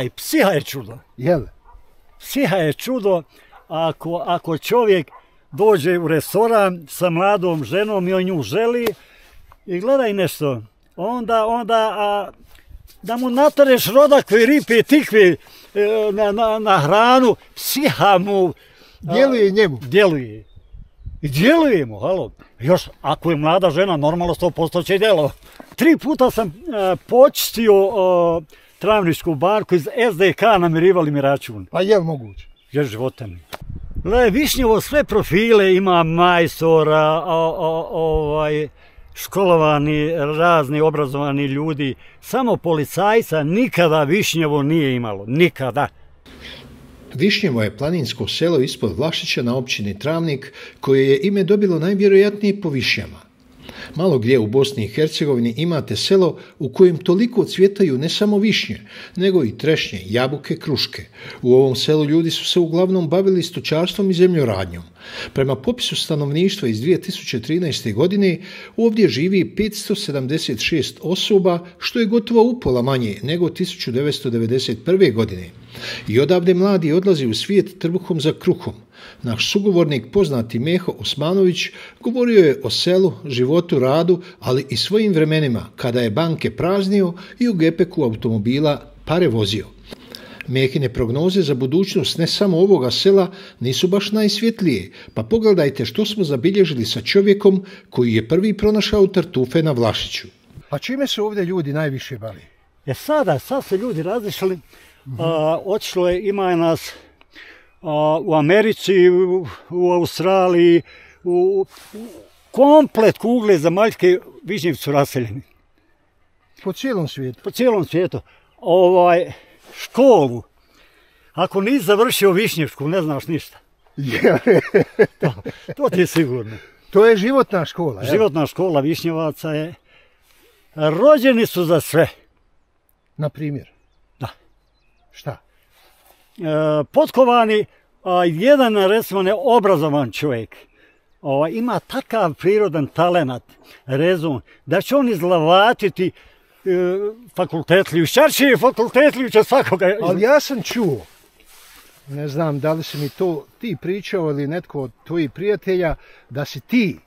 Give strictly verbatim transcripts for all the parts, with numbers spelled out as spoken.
I psiha je čudo. Jel? Psiha je čudo ako, ako čovjek dođe u restoran sa mladom ženom i on nju želi i gledaj nešto, onda, onda a, da mu natareš rodakve, ripe, tikve na, na, na hranu, psiha mu djeluje njemu. Djeluje. I djeluje mu, halo. Još, ako je mlada žena, normalno sto posto će djelo. Tri puta sam uh, počistio uh, travničku banku, iz es de ka namirivali mi račun. Pa jel moguće? Jer života mi. Gle, Višnjevo sve profile ima majstora, o, o, ovaj, školovani, razni obrazovani ljudi. Samo policajca nikada Višnjevo nije imalo. Nikada. Višnjevo je planinsko selo ispod Vlašića na općini Travnik, koje je ime dobilo najvjerojatnije po višnjama. Malo gdje u Bosni i Hercegovini imate selo u kojem toliko cvjetaju ne samo višnje, nego i trešnje, jabuke, kruške. U ovom selu ljudi su se uglavnom bavili stočarstvom i zemljoradnjom. Prema popisu stanovništva iz dvije tisuće trinaeste. godine ovdje živi petsto sedamdeset šest osoba, što je gotovo upola manje nego tisuću devetsto devedeset prve. godine. I odavde mladi odlazi u svijet trbuhom za kruhom. Naš sugovornik, poznati Meho Osmanović, govorio je o selu, životu, radu, ali i svojim vremenima, kada je banke praznio i u gepeku automobila pare vozio. Mehine prognoze za budućnost ne samo ovoga sela nisu baš najsvjetlije, pa pogledajte što smo zabilježili sa čovjekom koji je prvi pronašao tartufe na Vlašiću. Pa čime se ovdje ljudi najviše bavi? E sada, sad se ljudi razišli, mm-hmm. a, otišlo je, ima nas a, u Americi, u, u Australiji, u, u komplet kugle zemaljske Višnjevci su raseljeni. Po cijelom svijetu? Po cijelom svijetu. Ovaj, školu, ako nisi završio Višnjevsku, ne znaš ništa. to, to ti je sigurno. To je životna škola. Jel? Životna škola Višnjevaca je. Rođeni su za sve. Na primjer? Da. Šta? E, potkovani, a, jedan recimo neobrazovan čovjek o, ima takav prirodan talenat, rezon, da će on izlavatiti e, fakultetliju, šarčije fakultetliju će svakoga. Ali ja sam čuo, ne znam da li si mi to ti pričao ili netko od tvojih prijatelja, da si ti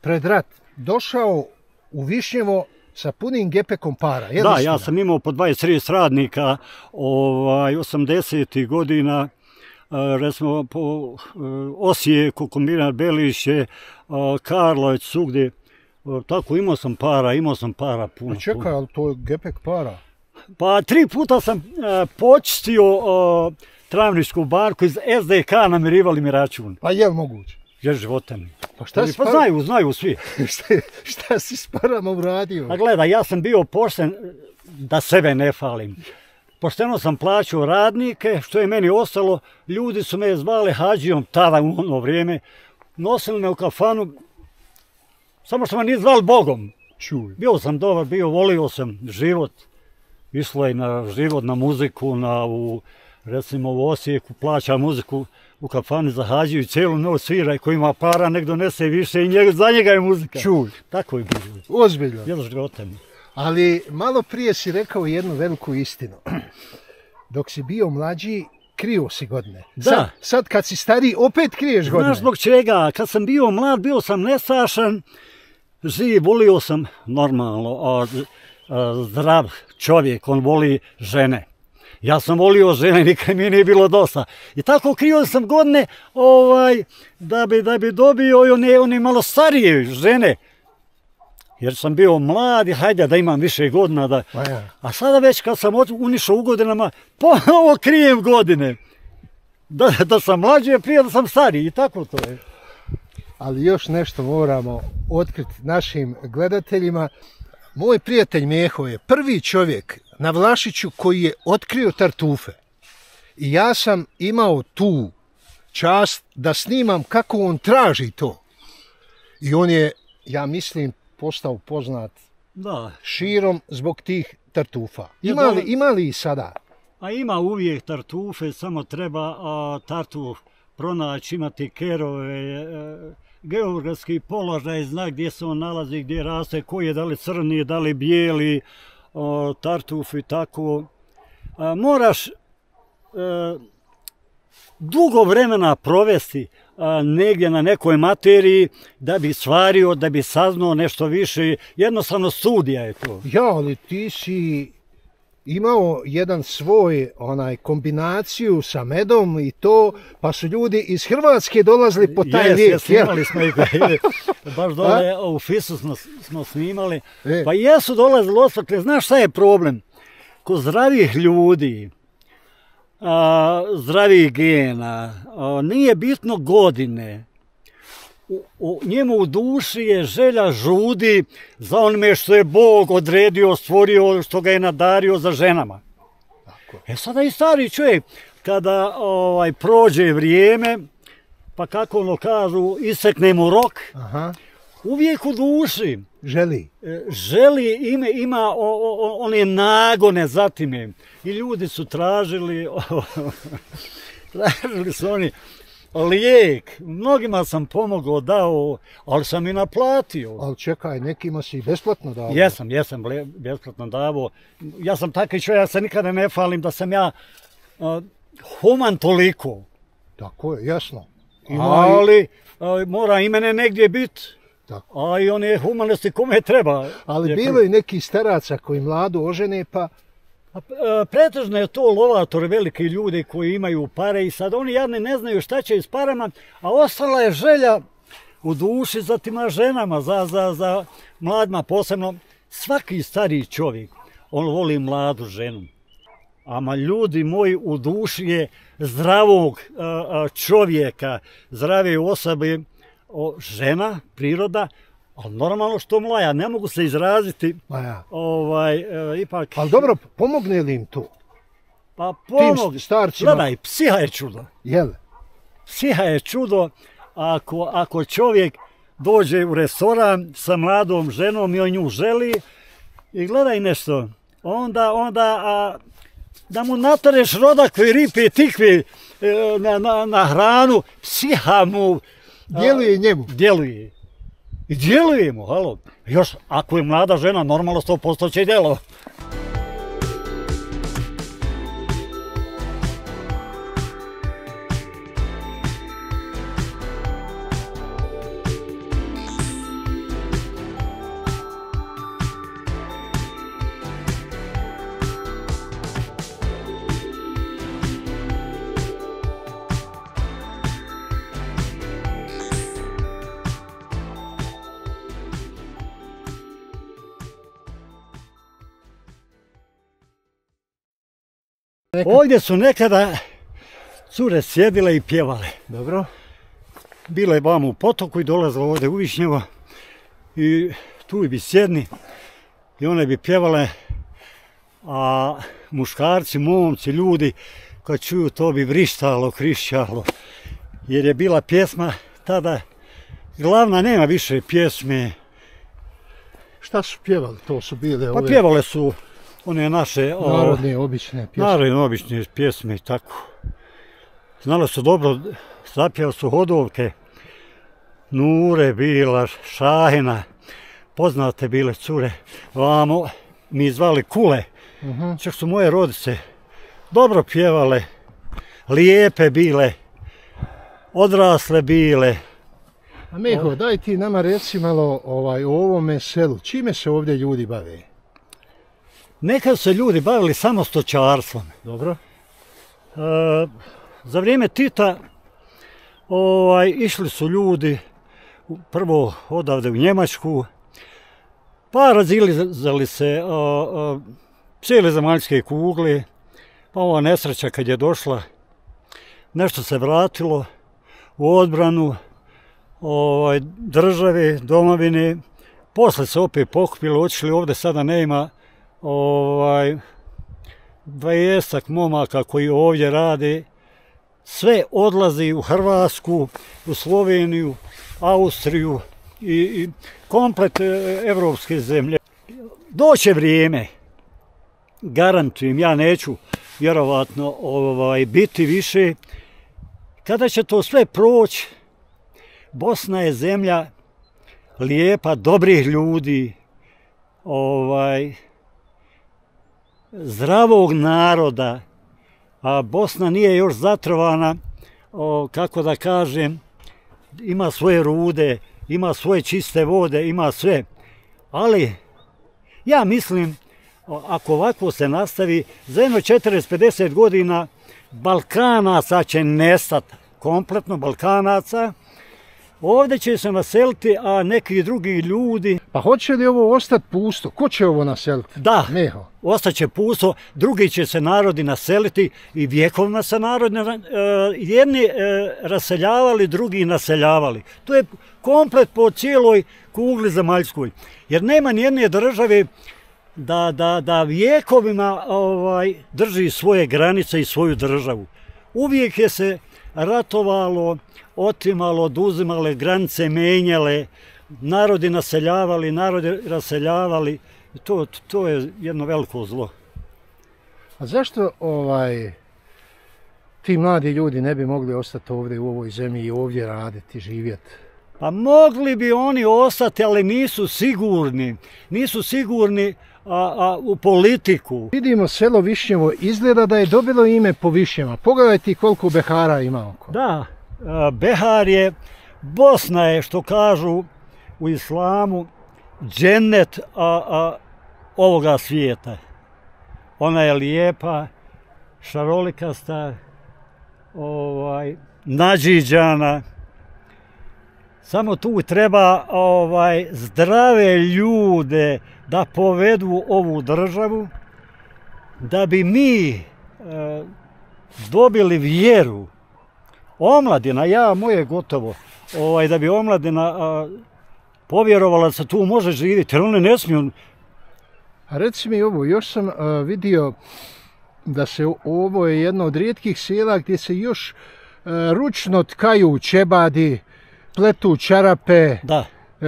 pred rat došao u Višnjevo sa punim gepekom para. Je da, ja sam imao po dvadeset trideset radnika, ovaj, osamdesetih godina, recimo po Osijeku, kombinat Belišće, Karlovac, svugdje. Tako imao sam para, imao sam para puno. A čekaj, ali to je gepek para? Pa tri puta sam počistio travničku banku, iz es de ka namirivali mi račun. Pa je li moguće? Jer života mi. Pa šta pa par... znaju, znaju svi. šta, šta si s parama uradio? A gledaj, ja sam bio pošten, da sebe ne falim. Pošteno sam plaćao radnike, što je meni ostalo, ljudi su me zvali hađijom tada u ono vrijeme, nosili me u kafanu, samo što me nije zvali Bogom. Čuj. Bio sam dobar, bio, volio sam život, išlo je na život, na muziku, na u, recimo u Osijeku plaća muziku, u kafani za hađiju, cijelu noć svira i ko ima para, nek donese više i njega, za njega je muzika. Čuj. Tako je bilo. Ozbiljno. Jel života mi. Ali malo prije si rekao jednu veliku istinu. Dok si bio mlađi, krio si godine. Da. Sad, sad kad si stariji, opet kriješ godine. Znaš zbog čega? Kad sam bio mlad, bio sam nesašan, živ, volio sam normalno, a, a, zdrav čovjek, on voli žene. Ja sam volio žene, nikad mi nije bilo dosta. I tako krio sam godine ovaj, da, bi, da bi dobio i one, one malo starije žene. Jer sam bio mlad i hajde da imam više godina. Da... Ja. A sada već kad sam unišao u godinama, ponovo krijem godine. Da, da sam mlađi, prije da sam stariji i tako to je. Ali još nešto moramo otkriti našim gledateljima. Moj prijatelj Meho je prvi čovjek na Vlašiću koji je otkrio tartufe. I ja sam imao tu čast da snimam kako on traži to. I on je, ja mislim, postao poznat da. širom zbog tih tartufa. Ima li, ima li i sada? A ima uvijek tartufe, samo treba a, tartuf pronaći, imati kerove, a, geografski položaj, zna gdje se on nalazi, gdje raste, koji je, da li crni, da li bijeli, a, tartuf i tako. a, moraš a, dugo vremena provesti a, negdje na nekoj materiji da bi stvario, da bi saznao nešto više. Jednostavno studija je to. Ja, ali ti si imao jedan svoj onaj kombinaciju sa medom i to, pa su ljudi iz Hrvatske dolazili po taj lijek. Jes, snimali smo ih, baš dole u Fisu smo, smo snimali, e. pa jesu dolazili osvakle. Znaš šta je problem? Kod zdravih ljudi, a, zdravih gena, a, nije bitno godine. U, u, njemu u duši je želja žudi za onime što je Bog odredio, stvorio, što ga je nadario za ženama. Tako. E sada i stari čovjek, kada ovaj, prođe vrijeme, pa kako ono kažu, isekne mu rok, Aha. uvijek u duši Želi. želi, ime, ima o, o, one nagone za time. I ljudi su tražili, tražili su oni lijek. Mnogima sam pomogao, dao, ali sam i naplatio. Ali čekaj, nekima si besplatno dao. Jesam, jesam besplatno davo. Ja sam takav čovjek, ja se nikada ne falim da sam ja uh, human toliko. Tako je, jasno. Ima ali uh, mora i mene negdje biti. Tako. A i one humanosti kome treba. Ali je, bilo je nekih staraca koji mladu ožene, pa... Pretežno je to lovatori, veliki ljudi koji imaju pare i sad oni jadni ne znaju šta će s parama, a ostala je želja u duši za tima ženama, za, za, za mladima posebno. Svaki stariji čovjek, on voli mladu ženu. Ama ljudi moji, u duši je zdravog čovjeka, zdrave osobe, žena, priroda, ali normalno što mlaja, ne mogu se izraziti. Ja. Ovaj, e, ipak... Ali dobro, pomogne li im to? Pa pomogne. Tim starcima? Gledaj, psiha je čudo. Jel? Psiha je čudo ako, ako čovjek dođe u restoran sa mladom ženom i on nju želi i gledaj nešto, onda, onda a, da mu natareš rodakve, ripe, tikve e, na, na, na hranu, psiha mu... Djeluje njemu. Djeluje. I djelujemo, halo. Još, ako je mlada žena, normalno sto posto će djelo. Ovdje su nekada cure sjedile i pjevale. Dobro. Bile je vamo u potoku i dolazile ovdje u Višnjevo i tu bi sjedni i one bi pjevale, a muškarci, momci, ljudi kad čuju to bi vrištalo, krišćalo, jer je bila pjesma tada glavna, nema više pjesme. Šta su pjevali? To su bile ove... Pa pjevale su one naše... Narodne, obične pjesme. Narodne, obične pjesme i tako. Znali su dobro, zapjevali su hodovke. Nure, bila, Šahina, poznate bile cure. Vamo mi zvali Kule. Uh-huh. Čak su moje rodice dobro pjevale, lijepe bile, odrasle bile. A Meho, daj ti nama reci malo ovaj, o ovome selu. Čime se ovdje ljudi bave? Nekad se ljudi bavili samo stočarstvom. Dobro. E, za vrijeme Tita ovaj, išli su ljudi prvo odavde u Njemačku, pa razilazali se o, o, cijele zemaljske kugle, pa ova nesreća kad je došla, nešto se vratilo u odbranu ovaj, države, domovine, posle se opet pokupilo, otišli ovdje, sada nema ovaj, dvadesetak momaka koji ovdje rade, sve odlazi u Hrvatsku, u Sloveniju, Austriju i, i komplet evropske zemlje. Doće vrijeme, garantujem, ja neću vjerovatno ovaj, biti više, kada će to sve proći, Bosna je zemlja lijepa, dobrih ljudi, ovaj, zdravog naroda, a Bosna nije još zatrovana, o, kako da kažem, ima svoje rude, ima svoje čiste vode, ima sve. Ali ja mislim, ako ovako se nastavi, za jedno četrdeset do pedeset godina Balkanaca će nestati, kompletno Balkanaca. Ovdje će se naseliti, a neki drugi ljudi... Pa hoće li ovo ostati pusto? Ko će ovo naseliti? Da, Meho. ostaće pusto, drugi će se narodi naseliti i vjekovima se narodi jedni raseljavali, drugi naseljavali. To je komplet po cijeloj kugli zemaljskoj. Jer nema nijedne države da, da, da vjekovima ovaj, drži svoje granice i svoju državu. Uvijek je se ratovalo, otimalo, oduzimale, granice menjale, narodi naseljavali, narodi raseljavali. To, to je jedno veliko zlo. A zašto ovaj, ti mladi ljudi ne bi mogli ostati ovdje u ovoj zemlji i ovdje raditi, živjeti? Pa mogli bi oni ostati, ali nisu sigurni. Nisu sigurni a, a, u politiku. Vidimo selo Višnjevo, izgleda da je dobilo ime po Višnjama. Pogledajte koliko Behara ima oko. Da, a, Behar je, Bosna je, što kažu u islamu, džennet a, a, ovoga svijeta. Ona je lijepa, šarolikasta, ovaj, nađiđana. Samo tu treba ovaj, zdrave ljude da povedu ovu državu, da bi mi e, dobili vjeru. Omladina, ja, moje gotovo, ovaj, da bi omladina a, povjerovala da se tu može živjeti, jer one ne smiju. A reci mi ovo, još sam a, vidio da se ovo je jedno od rijetkih sela gdje se još a, ručno tkaju čebadi, pletu čarape, Da. e,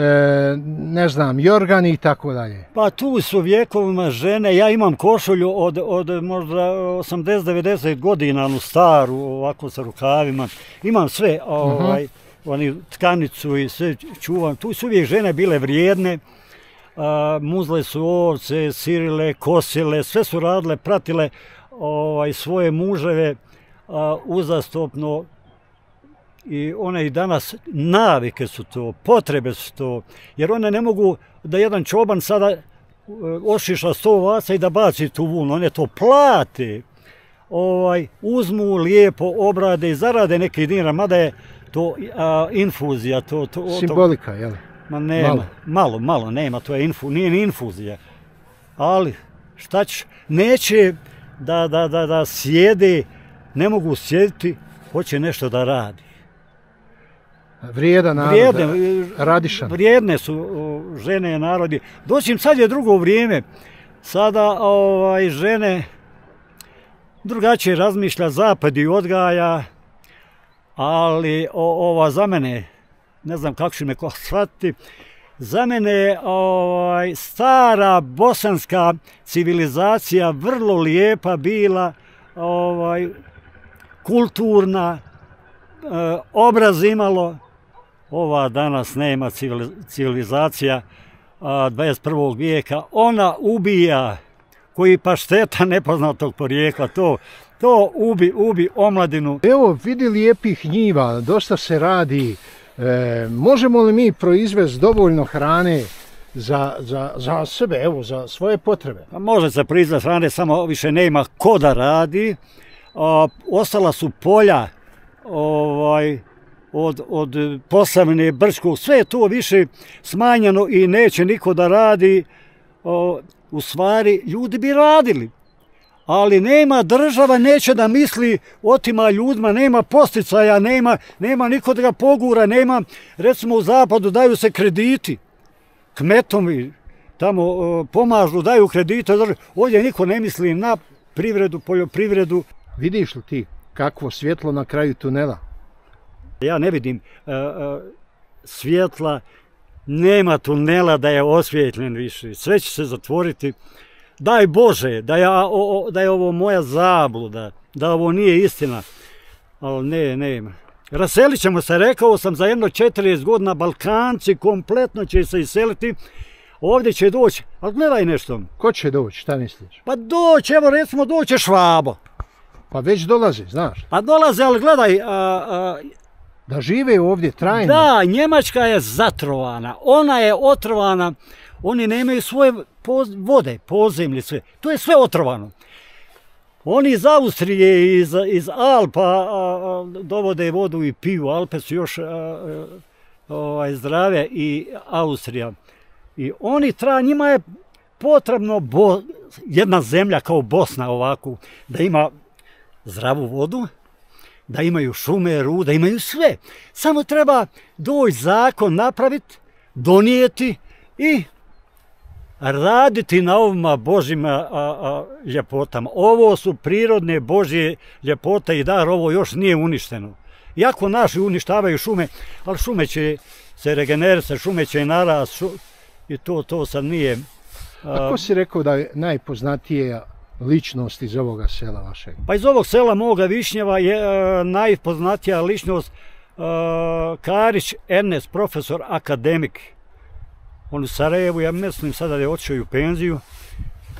ne znam, jorgani i tako dalje. Pa tu su vjekovima žene, ja imam košulju od, od možda osamdeset do devedeset godina, onu staru, ovako sa rukavima, imam sve, ovaj, uh-huh. oni, tkanicu i sve čuvam. Tu su uvijek žene bile vrijedne, a, muzle su ovce, sirile, kosile, sve su radile, pratile ovaj, svoje muževe a, uzastopno. I one i danas, navike su to, potrebe su to, jer one ne mogu da jedan čoban sada ošiša sto ovaca i da baci tu vunu, one to plate, ovaj, uzmu lijepo, obrade i zarade neki dinar, mada je to a, infuzija. To, to, Simbolika, jel? Ma nema, malo. malo, malo, nema, to je infu, nije ni infuzija. Ali, šta ćeš, neće da, da, da, da sjede, ne mogu sjediti, hoće nešto da radi. Vrijedan narod, vrijedne, radišan. Vrijedne su žene i narodi. Doćim, sad je drugo vrijeme. Sada ovaj, žene drugačije razmišlja, zapad i odgaja, ali o, ova za mene, ne znam kako će me ko shvatiti, za mene ovaj, stara bosanska civilizacija vrlo lijepa bila, ovaj, kulturna, e, obraz imalo. Ova danas nema civilizacija a, dvadeset prvog vijeka, ona ubija, koji pašteta nepoznatog porijekla, to, to ubi, ubi omladinu. Evo, vidi lijepih njiva, dosta se radi. E, možemo li mi proizvesti dovoljno hrane za, za, za sebe, evo, za svoje potrebe? Pa može se proizvesti hrane, samo više nema ko da radi. A, ostala su polja, ovaj, od, od Posavine, Brčkog, sve je to više smanjeno i neće niko da radi. O, u stvari, ljudi bi radili, ali nema, država neće da misli otima ljudima, nema posticaja, nema, nema niko da ga pogura, nema, recimo u zapadu daju se krediti, kmetovi tamo o, pomažu, daju kredite, ovdje niko ne misli na privredu, poljoprivredu. Vidiš li ti kakvo svjetlo na kraju tunela? Ja ne vidim uh, uh, svjetla, nema tunela da je osvjetljen više, sve će se zatvoriti. Daj Bože da, ja, o, da je ovo moja zabluda, da ovo nije istina, ali ne, nema. Raselit ćemo se, rekao sam, za jedno četrdeset godina Balkanci kompletno će se iseliti, ovdje će doći, ali gledaj nešto. Ko će doći, šta misliš? Pa doći, evo recimo doće Švabo. Pa već dolazi, znaš. Pa dolaze, ali gledaj... A, a, da žive ovdje trajno. Da, Njemačka je zatrovana, ona je otrovana, oni nemaju svoje poz, vode, podzemlje, sve. To je sve otrovano. Oni iz Austrije, iz, iz Alpa a, a, dovode vodu i piju. Alpe su još a, a, a, zdrave i Austrija. I oni tra, njima je potrebno bo, jedna zemlja kao Bosna ovako, da ima zdravu vodu, da imaju šume, ruda, imaju sve. Samo treba doći zakon napraviti, donijeti i raditi na ovima Božjima a, a, ljepotama. Ovo su prirodne Božje ljepote i dar, ovo još nije uništeno. Iako naši uništavaju šume, ali šume će se regenerisati, šume će narast šu, i to, to sad nije... A, a ko si rekao da je najpoznatija ličnost iz ovoga sela vašeg? Pa iz ovog sela moga Višnjeva je uh, najpoznatija ličnost uh, Karić Ernest, profesor, akademik. On u Sarajevu, ja mislim sada da je otišao u penziju.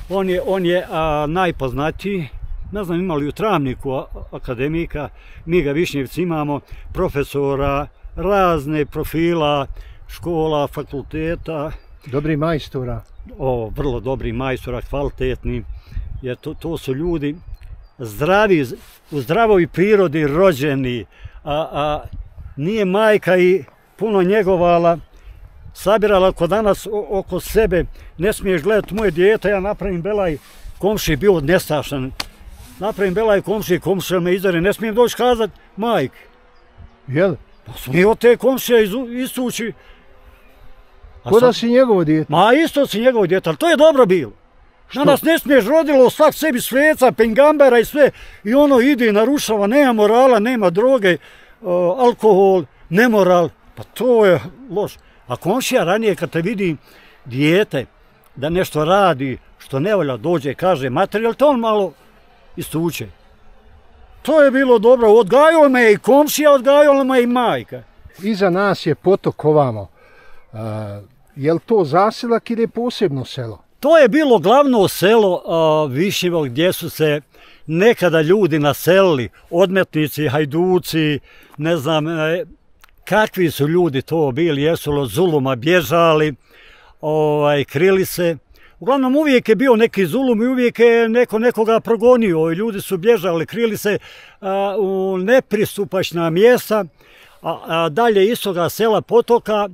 On je, on je uh, najpoznatiji. Ne znam, imali u Travniku a, akademika, mi ga Višnjevci imamo, profesora, razne profila, škola, fakulteta. Dobri majstora. O, vrlo dobri majstora, kvalitetni. Jer to, to su ljudi zdravi, u zdravoj prirodi rođeni, a, a nije majka i puno njegovala, sabirala ko danas o, oko sebe, ne smiješ gledati moje dijete, ja napravim belaj, komši bio nestašan, napravim belaj komši, komšija me izdare, ne smijem doći kazat majk. Jel? Pa smije od te komšija istući. Ko da si njegovo dijete? Ma isto si njegovo dijete, ali to je dobro bilo. Na nas ne smiješ, rodilo svak sebi sveca, pengambera i sve. I ono ide i narušava, nema morala, nema droge, uh, alkohol, nemoral. Pa to je loš. A komšija ranije kad te vidi dijete da nešto radi što ne volja, dođe i kaže materijal, to on malo istuče. To je bilo dobro, odgajao me i komšija, odgajala me i majka. Iza nas je potok ovamo. Uh, je li to zaselak ili je posebno selo? To je bilo glavno selo uh, Višnjevo gdje su se nekada ljudi naselili, odmetnici, hajduci, ne znam e, kakvi su ljudi to bili, jesu od zuluma bježali, ovaj, krili se. Uglavnom uvijek je bio neki zulum i uvijek je neko nekoga progonio i ljudi su bježali, krili se uh, u nepristupačna mjesta, a, a dalje istoga sela potoka.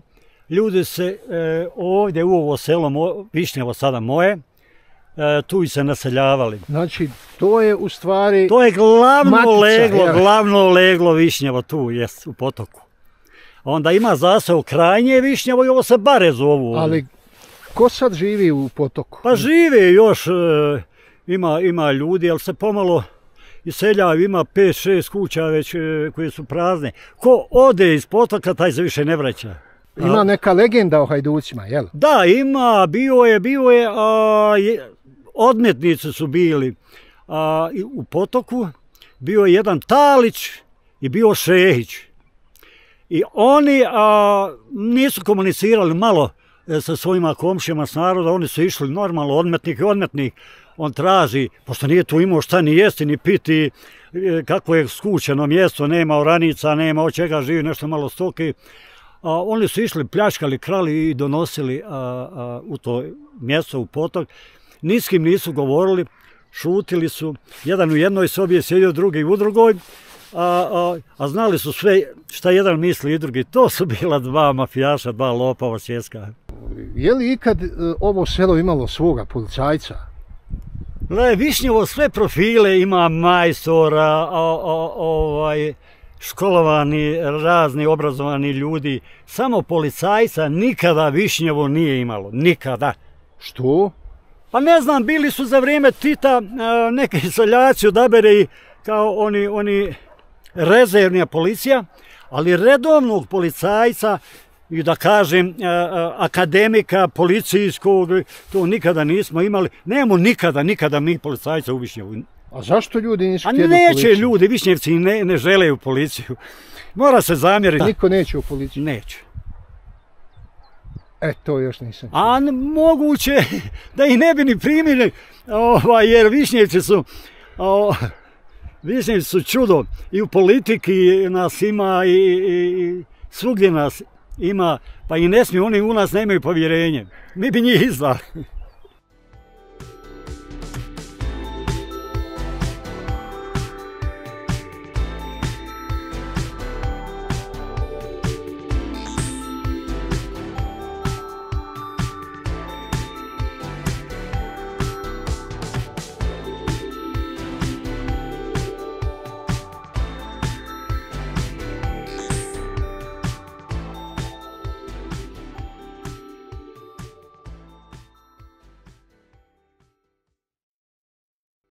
Ljudi se e, ovdje u ovo selo mo, Višnjevo sada moje, e, tu i se naseljavali. Znači, to je u stvari... To je glavno matica, leglo, ja. glavno leglo Višnjevo tu, jest, u potoku. Onda ima zaseo krajnje Višnjevo i ovo se bare zovu. Ali ko sad živi u potoku? Pa žive još, e, ima, ima ljudi, ali se pomalo iseljavaju, ima pet šest kuća već e, koje su prazne. Ko ode iz potoka, taj se više ne vraća. Ima neka legenda o hajducima, jel? Da, ima, bio je, bio je, a, je odmetnici su bili a, u potoku, bio je jedan Talić i bio Šehić. I oni a, nisu komunicirali malo sa svojima komšijama s naroda, oni su išli normalno, odmetnik i odmetnik, on traži, pošto nije tu imao šta ni jesti, ni piti, kako je skućeno mjesto, nema oranica, nema od čega živi, nešto malo stoke. A, oni su išli, pljačkali, krali i donosili a, a, u to mjesto, u potok. Ni s kim nisu govorili, šutili su. Jedan u jednoj sobi je sjedio, drugi u drugoj. A, a, a znali su sve šta jedan misli i drugi. To su bila dva mafijaša, dva lopava svjetska. Je li ikad ovo selo imalo svoga policajca? Le, Višnjevo sve profile ima majstora, a, a, ovaj... školovani, razni, obrazovani ljudi. Samo policajca nikada Višnjevo nije imalo. Nikada. Što? Pa ne znam, bili su za vrijeme Tita neki seljaci odabere kao oni, oni rezervnija policija, ali redovnog policajca i da kažem akademika policijskog, to nikada nismo imali. Nemamo nikada, nikada mi policajca u Višnjevu. A zašto ljudi nisu htjeli policiju? A neće ljudi, Višnjevci ne, ne žele u policiju. Mora se zamjeriti. Niko neće u policiju? Neće. E, to još nisam. A moguće da ih ne bi ni primili, ovaj, jer Višnjevci su, o, Višnjevci su čudo. I u politiki nas ima i, i, i svugdje nas ima, pa i ne smiju, oni u nas nemaju povjerenje. Mi bi njih izdali.